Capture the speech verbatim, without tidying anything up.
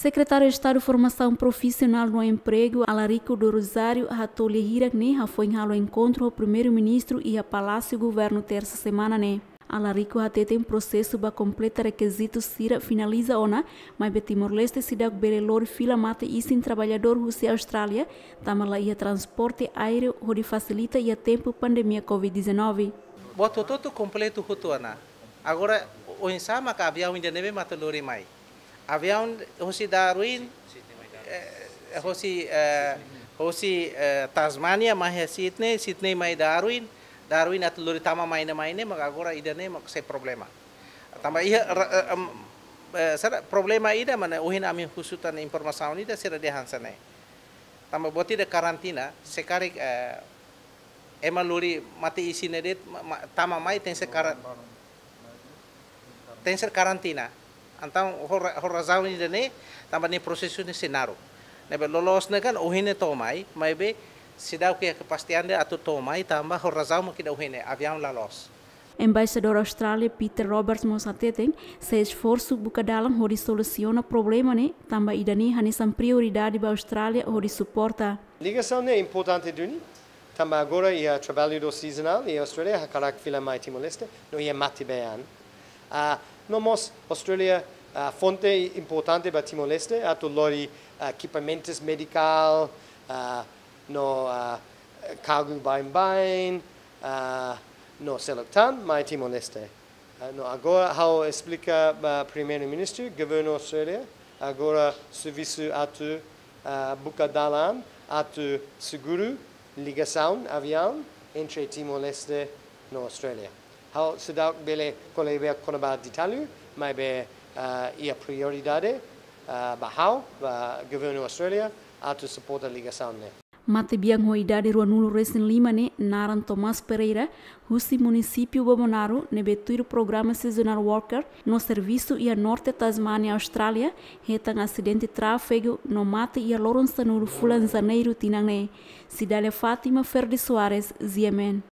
Sekretáriu Estadu Formasaun Profisionál no Empregu, Alarico do Rosário, hato'o lia hirak ne'e hafoin halo enkontru ho Primeiru-Ministru iha Palásiu Governu, tersa semana ne'e. Alarico hateten prosesu ba kompleta rekizitu sira finaliza ona, maibé Timor-Leste seidauk bele lori fila mate-isin traballadór husi Austrália, tanba la iha transporte aéreu hodi fasilita iha tempu pandemia covid dezanove. Buat hotu-hotu kompletu hotu ona. Agora, oinsá maka aviaun ida ne'ebé mak atu lori mai? Aviaun hosi Darwin, eh, hosi, eh, hosi, eh, Tasmania mai iha Sydney, Sydney mai Darwin, Darwin atu lori tama mai ne'e, mai ne'e, maka agora ida ne'e mak sai problema. Tanba iha ra-, eh, em, eh, sira problema ida mak ne'e, ohin ami husu tan informasaun ida sira dehan hanesan ne'e. Tanba buat ida karantina, se karik, eh, ema lori mate-isin ne'e de'it, ma-, ma-, tama mai tenke ser kara-, tenke ser karantina. Entaun ho ra-, ho razaun ida ne'e, tanba nia prosesu ne'e sei naruk. Ne'ebé loloos ne'e kan ohin ne'e to'o mai, maibé seidauk iha kepastian ida atu to'o mai, tanba ho razaun mak ida ohin ne'e, aviaun la loos. Embaixadór Austrália Peter Roberts mós hateten, sei esforsu buka dalan hodi solusiona problema ne'e, tanba ida ne'e hanesan prioridade ba Austrália hodi suporta. Ligasaun ne'e importante duni, tanba agora iha traballadór sezonál iha Austrália hakarak fila mai Timor-Leste, no iha mate-been. Ah, no mós Austrália, ah, fonte importante ba Timor-Leste, atu lori, ah, ekipamentus medikál, ah, no, ah, kargu baibain, ah, no seluk tan mai Timor-Leste. Ah, no agora ha'u esplika ba Primeiru-Ministru, Governu Austrália, agora servisu atu, ah, buka dalan atu seguru ligasaun aviaun entre Timor-Leste no Austrália. Ha'u seidauk bele ko'alia kona-ba detalle, maibé, ah, iha prioridade, ah, ba ha'u, ba Governu Austrália, atu suporta ligasaun ne'e. Matebian ho idade ruanulu resin lima ne'e naran Tomás Pereira, husi munisípiu Bobonaro, ne'ebé tuir programa seasonal worker no servisu iha norte Tasmania, Austrália, hetan asidente tráfegu no mate iha loron sanulu fulan Janeiru tinan ne'e. Cidália Fátima, Ferdi Soares, G M N.